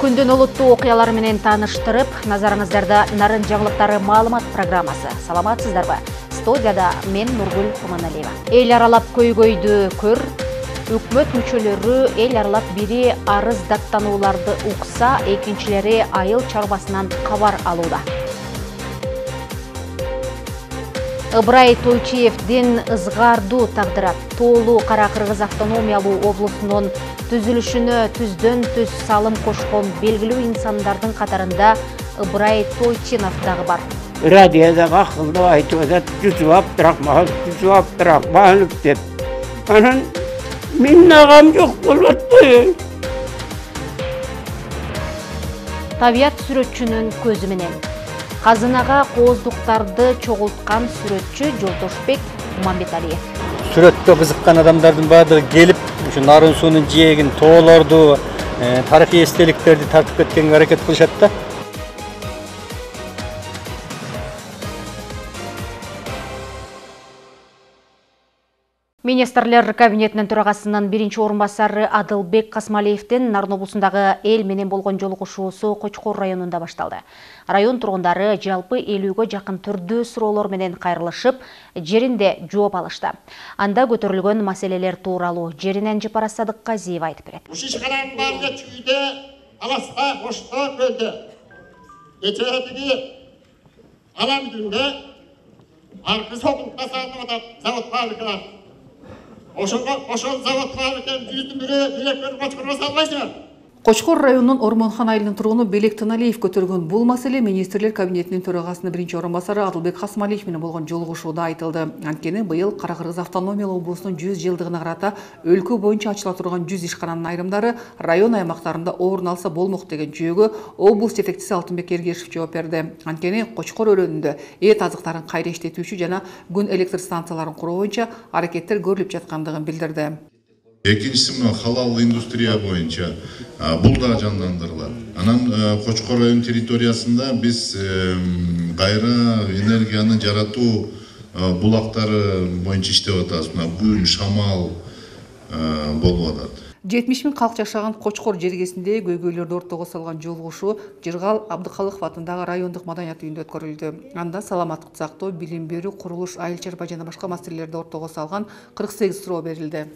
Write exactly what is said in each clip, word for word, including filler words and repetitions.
Күндүн олуттуу окуялары менен тааныштырып, назарыңыздарда Нарын жаңылыктары маалымат программасы. Саламатсыздарбы? Студияда мен Нургүл Куманалиева. Эл аралап көйгөйдү көр. Өкмөт мүчөлөрү эл аралап бири арыз даттанууларды укса, экинчилери айыл чарбасынан кабар алууда. Ыбырай Тойчиевдин ызгаардуу тагдыры. Тоолу Кара Кыргыз автономиялуу облусунун түзүлүшүнө түздөн түз салым кошкон белгилүү инсандардын катарында Ыбырай Тойчинов дагы бар. Радиода акылды айтып атат, түзүп Абдрахман, түзүп Абдрахманов деп. Анан мен агам жок болот кой. Табият сүрөтчүнүн көзү менен. Казынага кооздуктарды чогулткан сүрөтчү Жолдошбек Мамбеталиев. Сүрөттө кызыккан адамдардын баардыгы келип, ушу нарын суунун жээгин, тоолорду, тарыхый эстеликтерди тартып кеткенге аракет кылышат да. Министрлер кабинетинин төрагасынын биринчи орун басары Адылбек Касмалиевдин Нарын облусундагы эл менен болгон жолугушуусу Кочкор районунда башталды. Район тургундары жалпы элүүгө жакын түрдүү суроолор менен кайрылышып, жеринде жооп алышты. Анда көтөрүлгөн маселелер тууралуу жеринен Жапара Садыкказиева айтып берет. Уши ишканын баарында чүйдө, аласта, кошто, көлдө. Кечеги алам дүндө аркы сокулукка салынып атат завод фабрикалар. Ошого ошол завод фабриканын жүздүн бири директор Кочкорго салбайсыңар. Кочкор районунун Ормонхан айылынын тургуну Белек Тыналиев көтөргөн бул маселе министрлер кабинетинин төрагасынын биринчи орун басары Адылбек Касмалиев менен болгон жолугушууда айтылды. Анткени быйыл Кара Кыргыз автономиялуу облусунун жүз жылдыгына карата өлкө боюнча ачыла турган жүз ишкананын айрымдары район аймактарында орун алса болмок деген жүйөгө облус жетекчиси Алтынбек Эргешев жооп берди. Анткени Кочкор өрөөнүндө эт азыктарын кайра иштетүүчү жана күн электр станцияларын куруу боюнча аракеттер көрүлүп жаткандыгын билдирди. Экинчиси мына халал индустрия боюнча бул да жандандырылат. Анан Кочкор район территориясында биз кайра энергияны жаратуу булактары боюнча иштеп атабыз. Мына күн, шамал болуп атат. жетимиш миң калк жашаган Кочкор жергесинде көйгөйлөрдү ортого салган жолугушуу Жыргал Абдыкалыков атындагы райондук маданият үйүндө өткөрүлдү. Анда саламаттык сактоо, билим берүү, курулуш, айыл чарба жана башка маселелерди ортого салган кырк сегиз суроо берилди.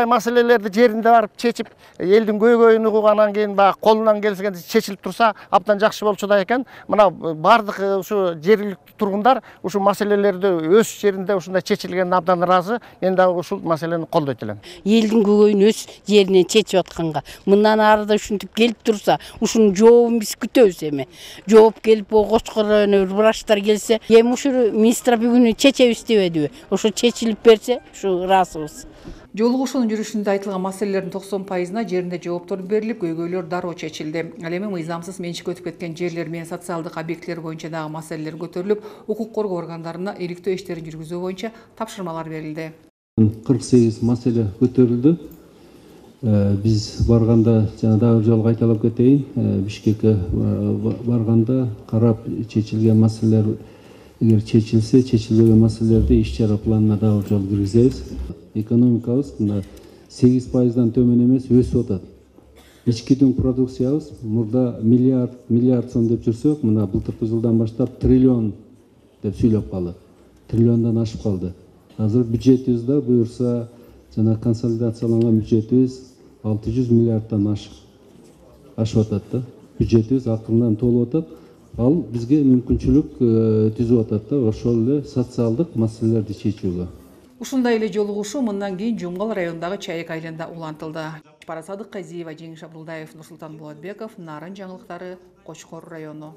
Маселелерди жеринде барып чечип, элдин көйгөйүн угугандан кийин баягы колунан келсе чечилип турса, абдан жакшы болчу да экен. Мына бардык ушу жергиликтүү тургундар ушу маселелерди өз жеринде ушундай чечилгенине абдан ыраазы. Мен дагы ушул маселени колдойт элем. Элдин көйгөйүн өз жеринен чечип атканга, мындан арыда ушинтип келип турса, ушунун жообун биз күтөбүз эми. Жооп келип, Кочкор району врачтар келсе, эми ушу министр бүгүн чечебиз дебедиби? Ошо чечилип берсе, ушу ыраазыбыз. Жолугушуунун жүрүшүндө айтылган маселелердин токсон пайызына жеринде жооптор берилип, көйгөйлөр дароо чечилди. Ал эми мыйзамсыз менчик өтүп кеткен жерлер менен социалдык объектилер боюнча дагы маселелер көтөрүлүп, укук коргоо органдарына иликтөө иштерин жүргүзүү боюнча тапшырмалар берилди. кырк сегиз маселе көтөрүлдү. Биз барганда жана дагы жолу кайталап кетейин, Бишкекке барганда карап чечилген маселелер эгер чечилсе, чечилбеген маселелерди иш-чара планына дагы жол киргизебиз. Экономикабыз мына сегиз пайыздан төмөн эмес өсүп атат. Ички дүң продукциябыз мурда миллиард миллиард сом деп жүрсөк, мына былтыркы жылдан баштап триллион деп сүйлөп калдык. Триллиондон ашып калды. Азыр бюджетибиз да буюрса жана консолидацияланган бюджетибиз алты жүз миллиарддан ашып ашып атат да. Бюджетибиз акырынан толуп атат. Ал бизге мүмкүнчүлүк түзүп атат да, ошол эле социалдык маселелерди чечүүгө. Ушундай эле жолугушуу мындан кийин Жумгал районундагы Чайык айылында улантылды. Жапара Садыкказиева, Жеңиш Абдулдаев, Нурсултан Болотбеков, Нарын жаңылыктары, Кочкор району.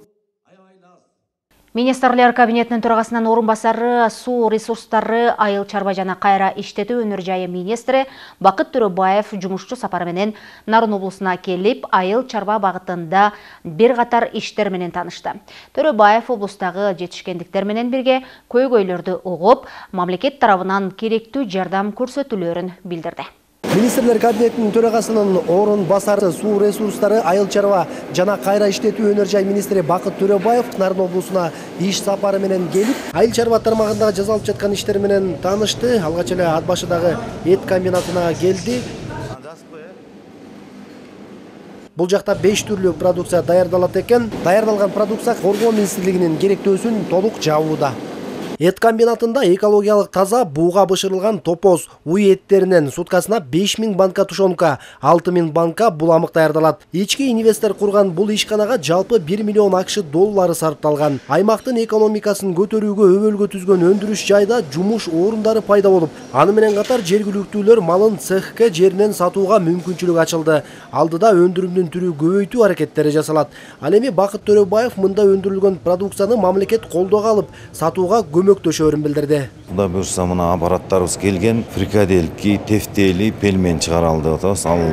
Министрлер кабинетинин төрагасынын орун басары суу ресурстары, айыл чарба жана кайра иштетүү өнөр жайы министри Бакыт Төрөбаев жумушчу сапары менен Нарын облусуна келип, айыл чарба багытында бир катар иштер менен таанышты. Төрөбаев облустагы жетишкендиктер менен бирге көйгөйлөрдү угуп, мамлекет тарабынан керектүү жардам көрсөтүлөөрүн билдирди. Министрлер кабинетинин төрагасынын орун басары суу ресурстары, айыл чарба жана кайра иштетүү өнөр жай министри Бакыт Төрөбаев Нарын облусуна иш сапары менен келип, айыл чарба тармагындагы жасалып жаткан иштер менен таанышты. Алгач эле Ат башыдагы эт комбинатына келди. Бул жакта беш түрлүү продукция даярдалат экен. Даярдалган продукция Коргоо министрлигинин керектөөсүн толук жабууда. Эт комбинатында экологиялык таза бууга бышырылган топоз уй эттеринен суткасына беш миң банка тушонка, алты миң банка буламык даярдалат. Ички инвестор курган бул ишканага жалпы бир миллион акш доллары сарпталган. Аймактын экономикасын көтөрүүгө өбөлгө түзгөн өндүрүш жайда жумуш орундары пайда болуп, аны менен катар жергиликтүүлөр малын цехке жеринен сатууга мүмкүнчүлүк ачылды. Алдыда өндүрүмдүн түрү көбөйтүү аракеттери жасалат. Ал эми Бакыт Төрөбаев мында өндүрүлгөн продукцияны мамлекет колдоого алып, сатууга көмөктөшөөрүн билдирди. Кудай буюрса мына аппараттарыбыз келген, фрикаделки, тефтели, пельмен чыгаралды атабыз. Ал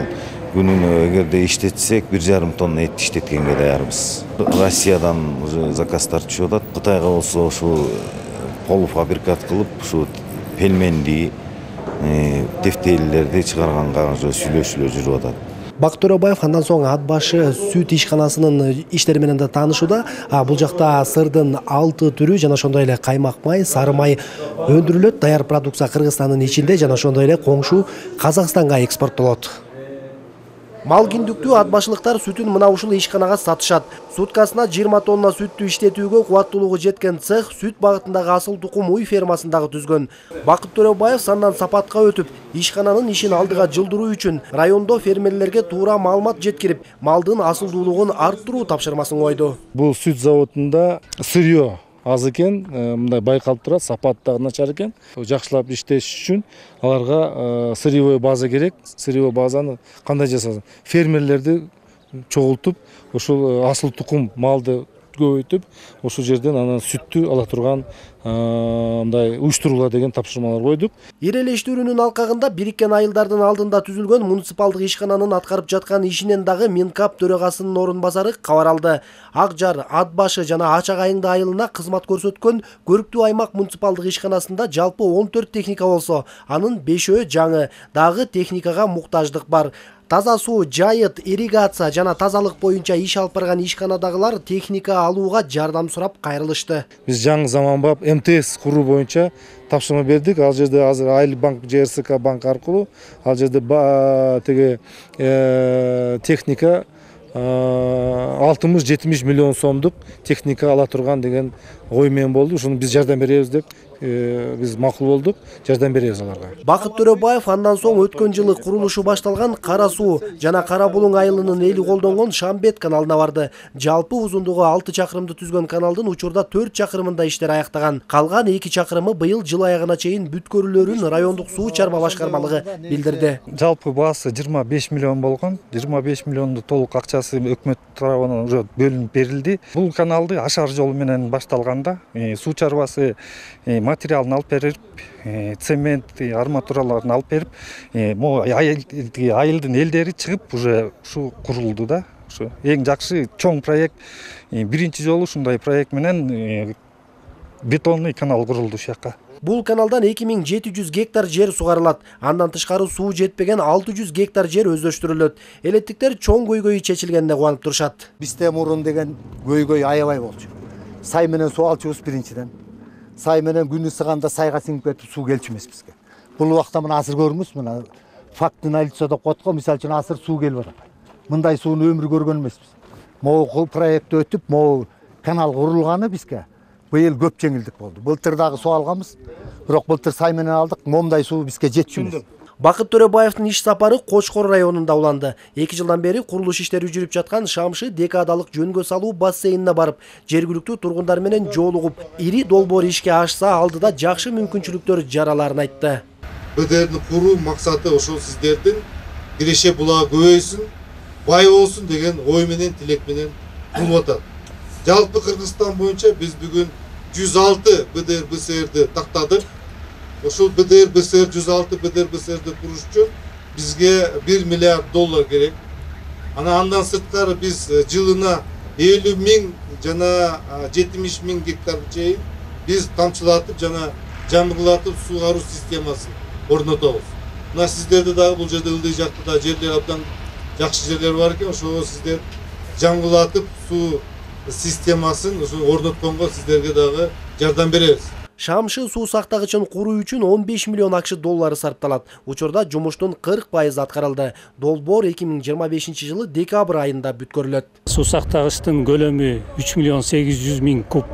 күнүнө эгерде иштетсек бир жарым тонна эт иштеткенге даярбыз. Россиядан уже заказдар түшүп атат. Кытайга болсо ушу полуфабрикат кылып, ушу пельменди, тефтелилерди чыгарганга уже сүйлөшүүлөр жүрүп атат. Бакыт Төрөбаев андан соң ат башы сүт ишканасынын иштери менен да таанышууда. Бул жакта сырдын алты түрү жана ошондой эле каймак май, сары май өндүрүлөт. Даяр продукция Кыргызстандын ичинде жана ошондой эле коңшу Казакстанга экспорттолот. Мал киндиктүү ат башылыктар сүтүн мына ушул ишканага сатышат. Суткасына жыйырма тонна сүттү иштетүүгө кубаттуулугу жеткен цех сүт багытындагы асыл тукум уй фермасындагы түзгөн. Бакыт Төрөбаев сандан сапатка өтүп, ишкананын ишин алдыга жылдыруу үчүн райондо фермерлерге туура маалымат жеткирип, малдын асылдуулугун арттыруу тапшырмасын койду. Бул сүт заводунда сырьё аз экен, мындай байкалып турат, сапаты дагы начар экен. Жакшылап иштеш үчүн аларга сырьевой база керек. Сырьевой базаны кандай жасасын? Фермерлерди чогултуп, ушул асыл тукум малды көбөйтүп, ошол жерден анан сүттү ала турган мындай уюштуруула деген тапшырмалар койдук. Ирелештүүрүнүн алкагында бириккен айылдардын алдында түзүлгөн муниципалдык ишкананын аткарып жаткан ишинен дагы Минкап төрагасынын орун басары кабар алды. Ак Жар, Ат башы жана Ачак Айыңды айылына кызмат көрсөткөн Көрүктүү аймак муниципалдык ишканасында жалпы он төрт техника болсо, анын бешөө жаңы, дагы техникага муктаждык бар. Таза суу, жайыт, ирригация жана тазалык боюнча иш алып барган ишканадагылар техника алууга жардам сурап кайрылышты. Биз жаңы заманбап эм тэ эс куруу боюнча тапшырма бердик. Ал жерде азыр Айыл банк, жэ эр эс ка банк аркылуу ал жерде теге техника алтымыш жетимиш миллион сомдук техника ала турган деген ой менен болду. Ушуну биз жардам беребиз деп биз макул болдук, жардам беребиз аларга. Бакыт Төрөбаев андан соң өткөн жылы курулушу башталган Кара Суу жана Кара Булуң айылынын эли колдонгон Шамбет каналына барды. Жалпы узундугу алты чакырымды түзгөн каналдын учурда төрт чакырымында иштер аяктаган. Калган эки чакырымы быйыл жыл аягына чейин бүткөрүлөрүн райондук суу чарба башкармалыгы билдирди. Жалпы баасы жыйырма беш миллион болгон. жыйырма беш миллионду толук акчасы өкмөт тарабынан уже бөлүнүп берилди. Бул каналды ашар жол менен башталганда суу чарбасы материалын алып берип, цемент, арматураларын алып берип, айылдын элдери чыгып уже ушу курулду да. Ушу эң жакшы чоң проект. Биринчи жолу ушундай проект менен бетонный канал курулду ушул жакка. Бул каналдан эки миң жети жүз гектар жер сугарылат. Андан тышкары суу жетпеген алты жүз гектар жер өздөштүрүлөт. Элеттиктер чоң көйгөй чечилгенде кубанып турушат. Бизде мурун деген көйгөй аябай болчу. Сай менен суу алчубуз биринчиден. Сай менен күнү ысыганда сайга сиңип кетип суу келчү эмес бизге. Бул убакта мына азыр көрүңүз, мына фактный лицо деп коет го, мисалы үчүн азыр суу келип атат. Мындай сууну өмүр көргөн эмеспиз. Могу проект өтүп, могу канал курулганы бизге быйыл көп жеңилдик болду. Былтыр дагы суу алганбыз, бирок былтыр сай менен алдык, момундай суу бизге жетчү эмес. Бакыт Төрөбаевдин иш сапары Кочкор районунда уланды. эки жылдан бери курулуш иштери жүрүп жаткан Шамшы декадалык жөнгө салуу бассейнине барып, жергиликтүү тургундар менен жолугуп, ири долбоор ишке ашса алдыда жакшы мүмкүнчүлүктөр жараларын айтты. бэ дэ эрди куруу максаты ошол сиздердин Киреше булагы көбөйсүн, бай болсун деген ой менен, тилек менен курулуп атат. Жалпы Кыргызстан боюнча биз бүгүн жүз алты бэ дэ эр бэ эс эрди тактадык. Ошол бэ дэ эр бэ эс эр жүз алты бэ дэ эр бэ эс эрди куруш үчүн бизге бир миллиард доллар керек. Ана андан сырткары биз жылына элүү миң жана жетимиш миң гектар чейин биз тамчылатып жана жамгылатып суугаруу системасын орнотобуз. Мына сиздерде дагы бул жерде ылдый жактада жерлер абдан жакшы жерлер бар экен. Ошого сиздер жамгылатып суу системасын орнотконго сиздерге дагы жардам беребиз. Шамшы суу сактагычын куруу үчүн он беш миллион акш доллары сарпталат. Учурда жумуштун кырк пайызы аткарылды. Долбоор эки миң жыйырма бешинчи жылы декабрь айында бүткөрүлөт. Суу сактагычтын көлөмү үч миллион сегиз жүз миң куб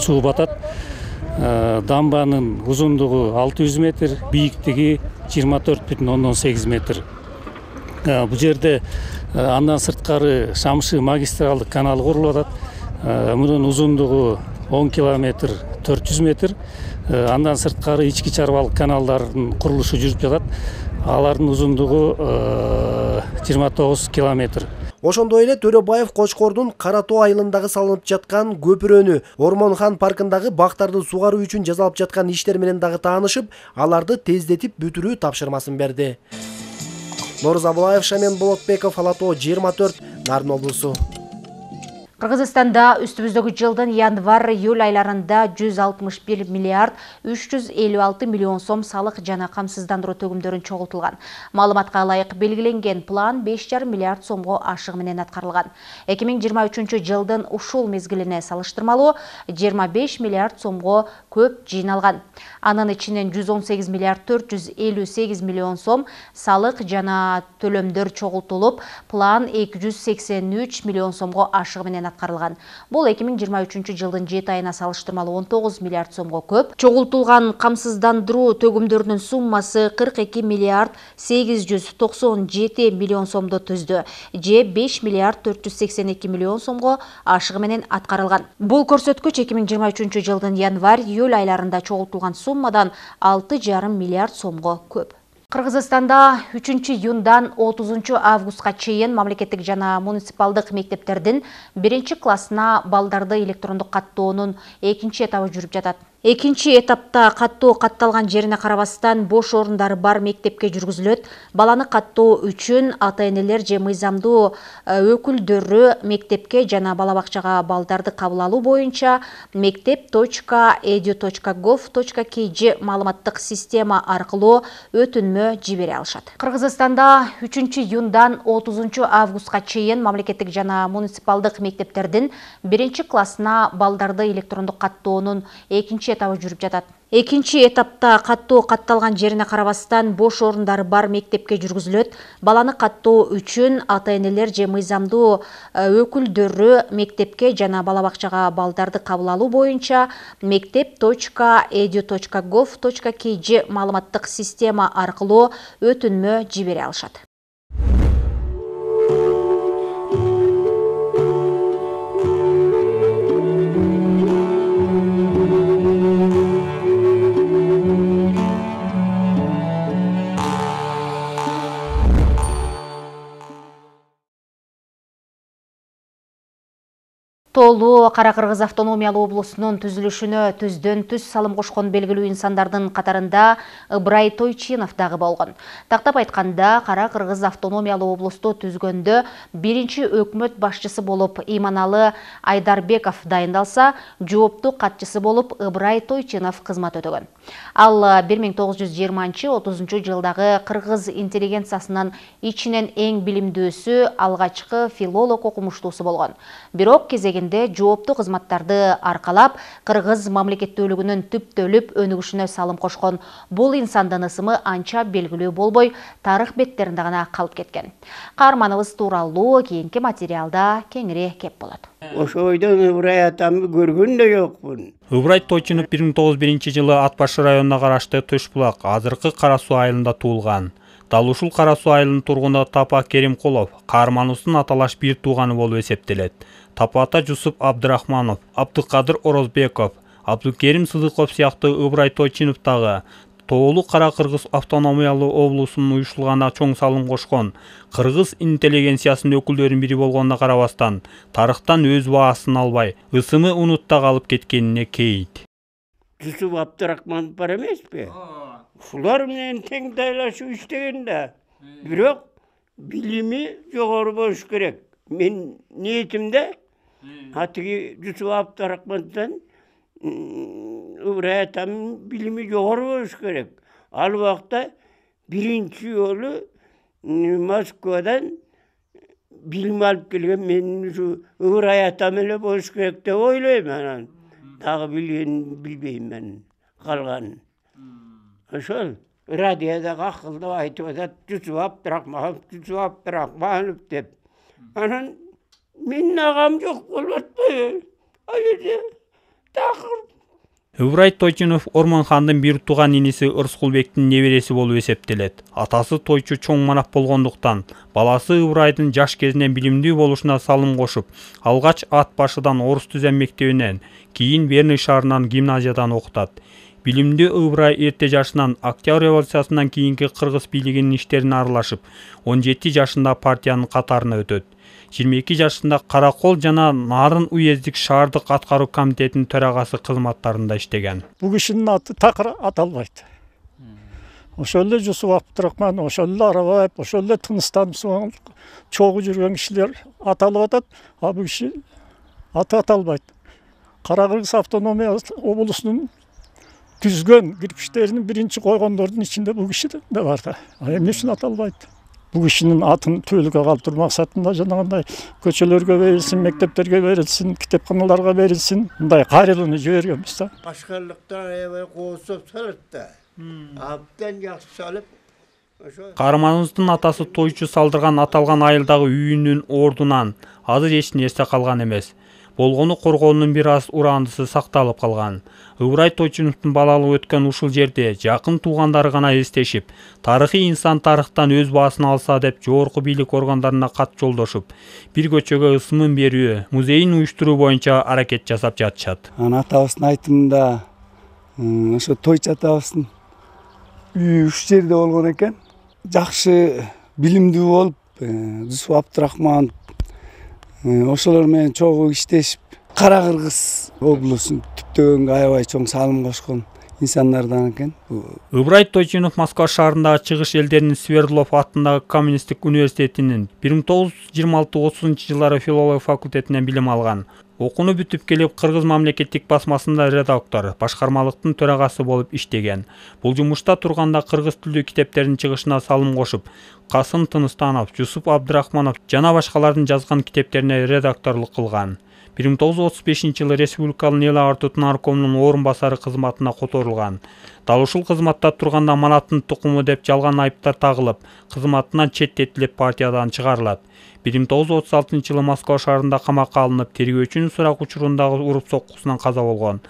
суу батат. Дамбанын узундугу алты жүз метр, бийиктиги жыйырма төрт бүтүн ондон сегиз метр. Бул жерде андан сырткары Шамшы магистралдык каналы курулуп атат. Мунун узундугу он километр, төрт жүз метр. Андан сырткары ички чарбалык каналдардын курулушу жүрүп жатат. Алардын узундугу жыйырма тогуз километр. Ошондой эле Төрөбаев Кочкордун Кара Тоо айылындагы салынып жаткан көпүрөнү, Ормонхан паркындагы бактарды сугаруу үчүн жасалып жаткан иштер менен дагы таанышып, аларды тездетип бүтүрүү тапшырмасын берди. Норuz Абылаев, Шамен Болотбеков, Ала Тоо жыйырма төрт, Нарын облусу. Кыргызстанда үстүбүздөгү жылдын январь-июль айларында жүз алтымыш бир миллиард үч жүз элүү алты миллион сом салык жана камсыздандыруу төгүмдөрүн чогултулган. Маалыматка ылайык белгиленген план беш жарым миллиард сомго ашыгы менен аткарылган. эки миң жыйырма үчүнчү жылдын ушул мезгилине салыштырмалуу жыйырма беш миллиард сомго көп жыйналган. Анын ичинен жүз он сегиз миллиард төрт жүз элүү сегиз миллион сом салык жана төлөмдөр чогултулуп, план эки жүз сексен үч миллион сомго ашыгы менен аткарылган. Бул эки миң жыйырма үчүнчү жылдын жети айына салыштырмалуу он тогуз миллиард сомго көп. Чогултулган камсыздандыруу төгүмдөрүнүн суммасы кырк эки миллиард сегиз жүз токсон жети миллион сомду түздү, же беш миллиард төрт жүз сексен эки миллион сомго ашыгы менен аткарылган. Бул көрсөткүч эки миң жыйырма үчүнчү жылдын январь-июль айларында чогултулган суммадан алты жарым миллиард сомго көп. Кыргызстанда үчүнчү июндан отузунчу августка чейин мамлекеттик жана муниципалдык мектептердин биринчи классына балдарды электрондук каттоонун экинчи этабы жүрүп жатат. Экинчи этапта каттоо катталган жерине карабастан бош орундары бар мектепке жүргүзүлөт. Баланы каттоо үчүн ата-энелер же мыйзамдуу өкүлдөрү мектепке жана бала бакчага балдарды кабыл алуу боюнча мектеп точка эду точка гов точка кж маалыматтык система аркылуу өтүнмө жибере алышат. Кыргызстанда үчүнчү июндан отузунчу августка чейин мамлекеттик жана муниципалдык мектептердин биринчи классына балдарды электрондук каттоонун экинчи этабы жүрүп жатат. Экинчи этапта каттоо катталган жерине карабастан бош орундары бар мектепке жүргүзүлөт. Баланы каттоо үчүн ата-энелер же мыйзамдуу өкүлдөрү мектепке жана бала бакчага балдарды кабыл алуу боюнча мектеп точка эду точка гов точка кж маалыматтык система аркылуу өтүнмө жибере алышат. Тоолуу Кара Кыргыз автономиялуу облусунун түзүлүшүнө түздөн түз салым кошкон белгилүү инсандардын катарында Ыбырай Тойчинов дагы болгон. Тактап айтканда, Кара Кыргыз автономиялуу облусту түзгөндө биринчи өкмөт башчысы болуп Иманалы Айдарбеков дайындалса, жооптуу катчысы болуп Ыбырай Тойчинов кызмат өтөгөн. Ал бир миң тогуз жүз жыйырманчы отузунчу жылдагы кыргыз интеллигенциясынын ичинен эң билимдүүсү, алгачкы филолог окумуштуусу болгон. Бирок кезеги жооптуу кызматтарды аркалап, кыргыз мамлекеттүүлүгүнүн түптөлүп өнүгүшүнө салым кошкон бул инсандын ысымы анча белгилүү болбой, тарых беттеринде гана калып кеткен. Каарманыбыз тууралуу кийинки материалда кеңири кеп болот. Ошо ойдон Ыбырай атамды көргөн да жокмун. Ыбырай Тойчинов бир миң тогуз жүз биринчи жылы Ат башы районуна карашты Төш булак, азыркы Кара Суу айылында туулган. Дал ушул Кара Суу айылынын тургуну Тапа Керимкулов каарманыбыздын аталаш бир тууганы болуп эсептелет. Тапата Жусуп Абдырахманов, Абдыкадыр Орозбеков, Абдыкерим Сыдыков сыяктуу Ыбырай Тойчинов дагы Тоолуу Кара Кыргыз автономиялуу облусунун уюштурулганына чоң салым кошкон. Кыргыз интеллигенциясынын өкүлдөрүнүн бири болгонуна карабастан, тарыхтан өз баасын албай, ысымы унутта калып кеткенине кейит. Жусуп Абдырахманов бар эмеспи? Ушулар менен тең тайлашып иштеген да. Бирок билими жогору болуш керек. Мен ниетимде атыги Жусуп Абдырахмановдон Ыбырай атамдын билими жогору болуш керек. Ал убакта биринчи жолу Москвадан билим алып келген мен ушу Ыбырай атам эле болуш керек деп ойлойм. Анан дагы билген билбейм мен калганын. Ошол радиодагы акылдуу айтып атат, Жүсүп Абдрахманов, Жүсүп Абдрахманов деп. Анан менин агам жок болуп атпайбы? Ал жерде такыр. Ыбырай Тойчунов Ормонхандын бир тууган иниси Ырскулбектин небереси болуп эсептелет. Атасы тойчу чоң манап болгондуктан баласы Ыбырайдын жаш кезинен билимдүү болушуна салым кошуп, алгач Ат башыдан орус түзем мектебинен, кийин Верный шаарынан гимназиядан окутат. Билимдүү Ыбырай эрте жашынан Октябрь революциясынан кийинки кыргыз бийлигинин иштерине аралашып, он жети жашында партиянын катарына өтөт. жыйырма эки жашында Каракол жана Нарын уездик шаардык аткаруу комитетинин төрагасы кызматтарында иштеген. Бул кишинин аты такыр аталбайт. Ошол эле Жүсүп Абдрахман, ошол эле Арабаев, ошол эле Тыныстанов чогуу жүргөн кишилер аталып атат, а бул киши аты аталбайт. Кара-Кыргыз автономия облусунун түзгөн кирпичтеринин биринчи койгондордун ичинде бул киши да бар да. А эмне үчүн аталбайт? Бул кишинин атын түбөлүккө калтыруу максатында жанагындай көчөлөргө берилсин, мектептерге берилсин, китепканаларга берилсин, мындай кайрылууну жибергенбиз да. Башкарлыктан аябай коосуп салат да. Абдан жакшы салып. Каарманыбыздын атасы тойчу салдырган аталган айылдагы үйүнүн ордунан азыр эч нерсе калган эмес. Болгону коргоонун бир аз урандысы сакталып калган. Ыбырай Тойчуновдун балалыгы өткөн ушул жерде жакын туугандары гана эстешип, тарыхый инсан тарыхтан өз баасын алса деп жогорку бийлик органдарына кат жолдошуп, бир көчөгө ысымын берүү, музейин уюштуруу боюнча аракет жасап жатышат. Ана атабыздын айтымында ошо Тойчу атабыздын үйү уш жерде болгон экен. Жакшы билимдүү болуп, Жүсүп Абдрахманов ошолор менен чогуу иштешип, Кара-Кыргыз облусун түптөгөнгө аябай чоң салым кошкон инсандардан экен. Ыбырай Тойчунов Москва шаарындагы чыгыш элдеринин Свердлов атындагы коммунисттик университетинин бир миң тогуз жүз жыйырма алты отузунчу жылдары филология факультетинен билим алган. Окууну бүтүп келип Кыргыз мамлекеттик басмасында редактор, башкармалыктын төрагасы болуп иштеген. Бул жумушта турганда кыргыз тилдүү китептердин чыгышына салым кошуп, Касым Тыныстанов, Жүсүп Абдрахманов жана башкалардын жазган китептерине редакторлук кылган. бир миң тогуз жүз отуз бешинчи жылы Республикалык эл агартуу наркомунун орун басары кызматына которулган. Дал ушул кызматта турганда манаттын тукуму деп жалган айыптар тагылып, кызматынан четтетилип партиядан чыгарылат. бир миң тогуз жүз отуз алтынчы жылы Москва шаарында камакка алынып, тергөөчүнүн сурак учурундагы уруп соккусунан каза болгон.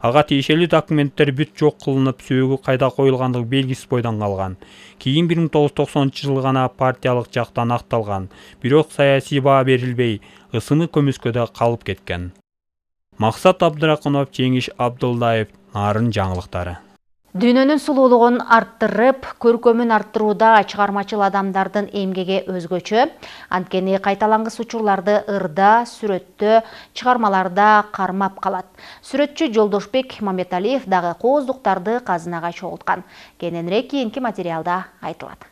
Ага тиешелүү документтер бүт жок кылынып, сөөгү кайда коюлгандыгы белгисиз бойдон калган. Кийин бир миң тогуз жүз токсонунчу жылы гана партиялык жактан акталган. Бирок саясий баа берилбей, ысымы көмүскөдө калып кеткен. Максат Абдракунов, Жеңиш Абдулдаев, Нарын жаңылыктары. Дүйнөнүн сулуулугун арттырып, көркөмүн арттырууда чыгармачыл адамдардын эмгеги өзгөчө. Анткени кайталангыс учурларды ырда, сүрөттө, чыгармаларда кармап калат. Сүрөтчү Жолдошбек Мамбеталиев дагы кооздуктарды казынага чогулткан. Кененирээк кийинки материалда айтылат.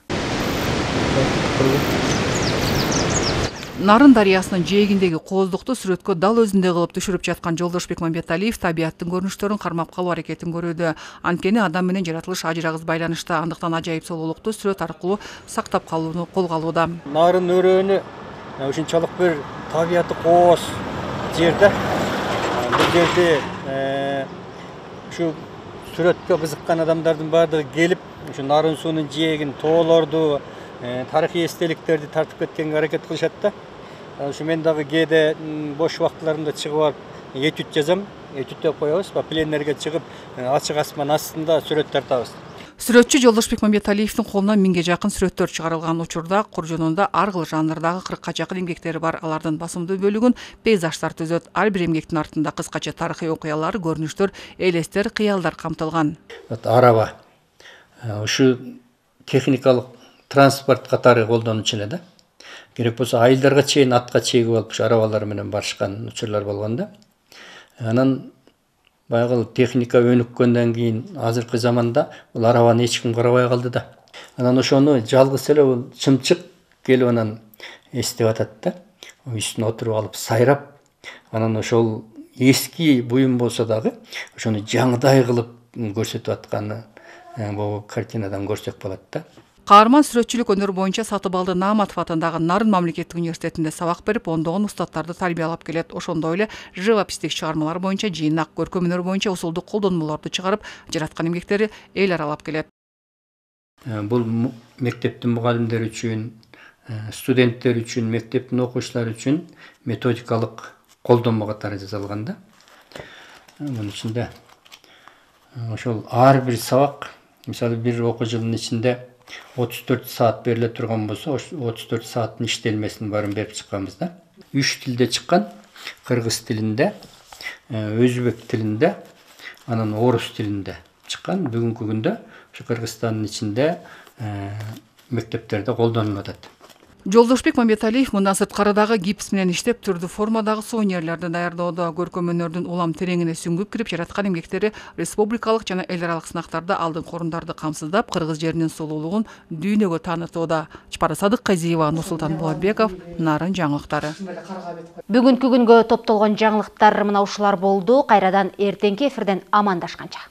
Нарын дарыясынын жээгиндеги кооздукту сүрөткө дал өзүндөй кылып түшүрүп жаткан Жолдошбек Мамбеталиев табияттын көрүнүштөрүн кармап калуу аракетин көрүүдө. Анткени адам менен жаратылыш ажырагыс байланышта, андыктан ажайып солуулукту сүрөт аркылуу сактап калууну колго алууда. Нарын өрөөнү ушунчалык бир табияты кооз жер да. Бул жерде ушу сүрөткө кызыккан адамдардын баардыгы келип, ушу нарын суунун жээгин, тоолорду, тарыхый эстеликтерди тартып кеткенге аракет кылышат да. Ушу мен дагы кээде бош убактыларымда чыгып барып этюд жазам, этюдтөп коебуз, пленерге чыгып ачык асман астында сүрөт тартабыз. Сүрөтчү Жолдошбек Мамбеталиевдин колунан миңге жакын сүрөттөр чыгарылган. Учурда Куржунунда ар кыл жанрдагы кыркка жакын эмгектери бар. Алардын басымдуу бөлүгүн пейзаждар түзөт. Ар бир эмгектин артында кыскача тарыхый окуялар, көрүнүштөр, элестер, кыялдар камтылган. Араба ушу техникалык транспорт катары колдонуучу эле да. Керек болсо айылдарга чейин атка чегип алып ушу арабалар менен барышкан учурлар болгон да. Анан баягы техника өнүккөндөн кийин азыркы заманда бул арабаны эч ким карабай калды да. Анан ошону жалгыз эле бул чымчык келип анан эстеп атат да. Үстүнө отуруп алып сайрап, анан ошол эски буюм болсо дагы ошону жаңыдай кылып көрсөтүп атканы бул картинадан көрсөк болот да. Каарман сүрөтчүлүк өнөр боюнча Сатыбалды Нааматов атындагы Нарын мамлекеттик университетинде сабак берип, ондогон устаттарды тарбиялап келет. Ошондой эле живопистик чыгармалар боюнча жыйнак, көркөм өнөр боюнча усулдук колдонмолорду чыгарып, жараткан эмгектери эл аралап келет. Бул мектептин мугалимдери үчүн, студенттер үчүн, мектептин окуучулары үчүн методикалык колдонмо катары жасалган да. Мунун ичинде ошол ар бир сабак, мисалы бир окуу жылынын ичинде отуз төрт саат бериле турган болсо, отуз төрт сааттын иштелмесин баарын берип чыкканбыз да. Үч тилде чыккан: кыргыз тилинде, өзбек тилинде, анан орус тилинде чыккан. Бүгүнкү күндө ушу Кыргызстандын ичинде мектептерде колдонулуп атат. Жолдошбек Мамбеталиев мындан сырткарыдагы гипс менен иштеп, түрдүү формадагы сувенирлерди даярдоодо, көркөм өнөрдүн улам тереңине сүңгүп кирип, жараткан эмгектери республикалык жана эл аралык сынактарда алдыңкы орундарды камсыздап, кыргыз жеринин сулуулугун дүйнөгө таанытууда. Чапара Садыкказиева, Нурсултан Булатбеков, Нарын жаңылыктары. Бүгүнкү күнгө топтолгон жаңылыктар мына ушулар болду. Кайрадан эртеңки эфирден амандашканча.